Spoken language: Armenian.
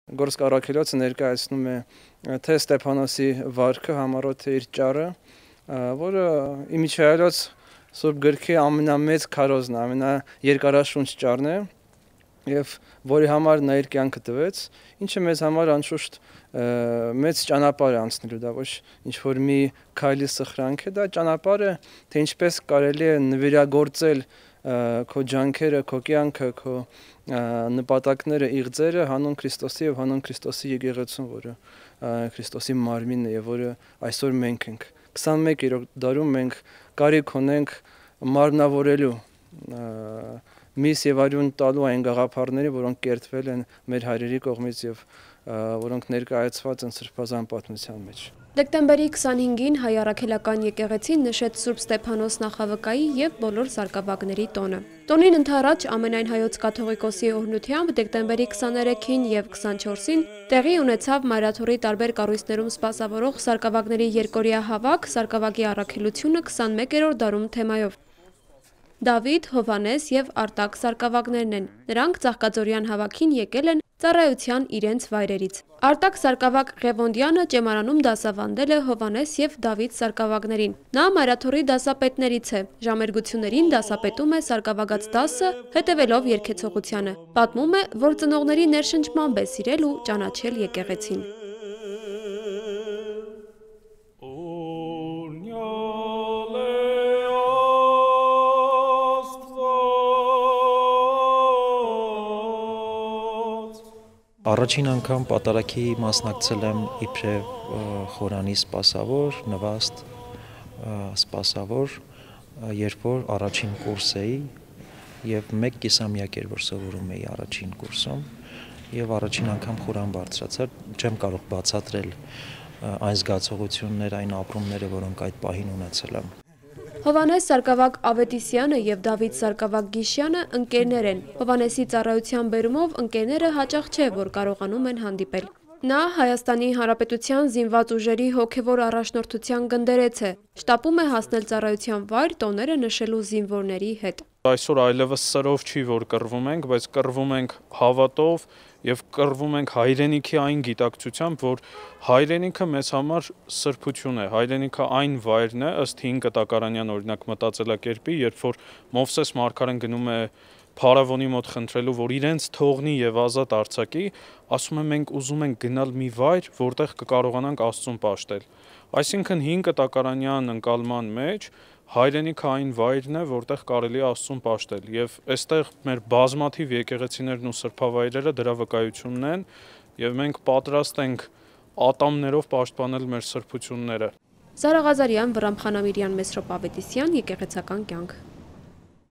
Գորսկ առաքելոցը ներկայացնում է թե Ստեփանոսի վարքը համառոտ իր ճառը, որը իմիջայլոց Սուրբ գրքի ամենամեծ քարոզն է, ամենաերկարաշունչ ճառն է եւ որի համար նա իր կյանքը տվեց, ինչը մեզ համար անշուշտ մեծ ճանապարհ է անցնելու, դա ոչ ինչ որ մի քայլի սխրանք է, դա ճանապարհ է, թե ինչպես կարելի է նվիրագործել քո ջանքերը, քո կյանքը, քո նպատակները, իղձերը հանուն Քրիստոսի եւ հանուն Քրիստոսի եկեղեցուն, որը Քրիստոսի մարմինն է եւ որը այսօր մենք ենք 21-րդ դարում մենք կարիք ունենք մարմնավորելու միս եւ արյուն տալու այն գաղափարների, որոնք կերտվել են մեր հայրերի կողմից եւ որոնք ներկայացված են սրբազան պատմության մեջ։ Դեկտեմբերի 25-ին հայ առաքելական եկեղեցին նշեց Սուրբ Ստեփանոս նախավկայի եւ բոլոր սարկավագների տոնը։ Տոնին ընդառաջ ամենայն հայոց կաթողիկոսի օրհնությամբ դեկտեմբերի 23-ին եւ 24-ին տեղի ունեցավ Մայրաթորի տարբեր կառույցներում սպասավորող սարկավագների երկօրյա հավաք «Սարկավագի առաքելությունը 21-րդ դարում» թեմայով։ Դավիթ, Հովհաննես եւ Արտակ սարկավագներն են։ Նրանք Ծաղկաձորյան հավաքին եկել են ծառայության իրենց վայրերից։ Արտակ սարկավագ Ղևոնդյանը ճեմարանում դասավանդել է Հովհաննես եւ Դավիթ սարկավագներին։ Նա Մայրաթորի դասապետներից է։ Ժամերգություններին դասապետում է սարկավագած դասը, հետևելով երգեցողությանը։ Պատմում է, որ ծնողների ներշնչմամբ է սիրել ու ճանաչել եկեղեցին։ Առաջին անգամ պատարագի մասնակցել եմ իբրև խորանի սպասավոր, նվաստ սպասավոր, երբ որ առաջին կուրս էի եւ 1 կիսամյակ էր որ սովորում էի առաջին կուրսում եւ առաջին անգամ խորան բարձրացա, չեմ կարող բացատրել այն զգացողությունները, այն ապրումները, որոնք այդ պահին ունեցել եմ։ Հովհաննես սարկավագ Ավետիսյանը եւ Դավիթ սարկավագ Գիշյանը ընկերներ են։ Հովհաննեսի ծառայության բերումով ընկերները հաճախ չէ, որ կարողանում են հանդիպել։ Նա Հայաստանի Հանրապետության զինված ուժերի հոգևոր առաջնորդության գնդերից է։ Շտապում է հասնել ծառայության վայր տոները նշելու զինվորների հետ։ Այսօր այլևս սրով չի, որ կռվում ենք, բայց կռվում ենք հավատով եւ կռվում ենք հայրենիքի այն գիտակցությամբ, որ հայրենիքը մեզ համար սրբություն է, հայրենիքը այն վայրն է, ըստ 5 Կտակարանյան օրինակ մտածելակերպի, երբ որ Մովսես մարգարեն գնում է Փարավոնի մոտ խնդրելու, որ իրենց թողնի եւ ազատ արձակի, ասում է մենք ուզում ենք գնալ մի վայր, որտեղ կկարողանանք Աստծուն պաշտել։ Այսինքն 5 Կտակարանյան ընկալման մեջ հայրենիքը այն վայրն է, որտեղ կարելի է Աստծուն պաշտել եւ այստեղ մեր բազմաթիվ եկեղեցիներն ու սրբավայրերը դրա վկայությունն են եւ մենք պատրաստ ենք ատամներով պաշտպանել մեր սրբությունները։ Զարա Ղազարյան, Վռամ Խանամիրյան, Մեսրոպ Ավետիսյան, Եկեղեցական կյանք։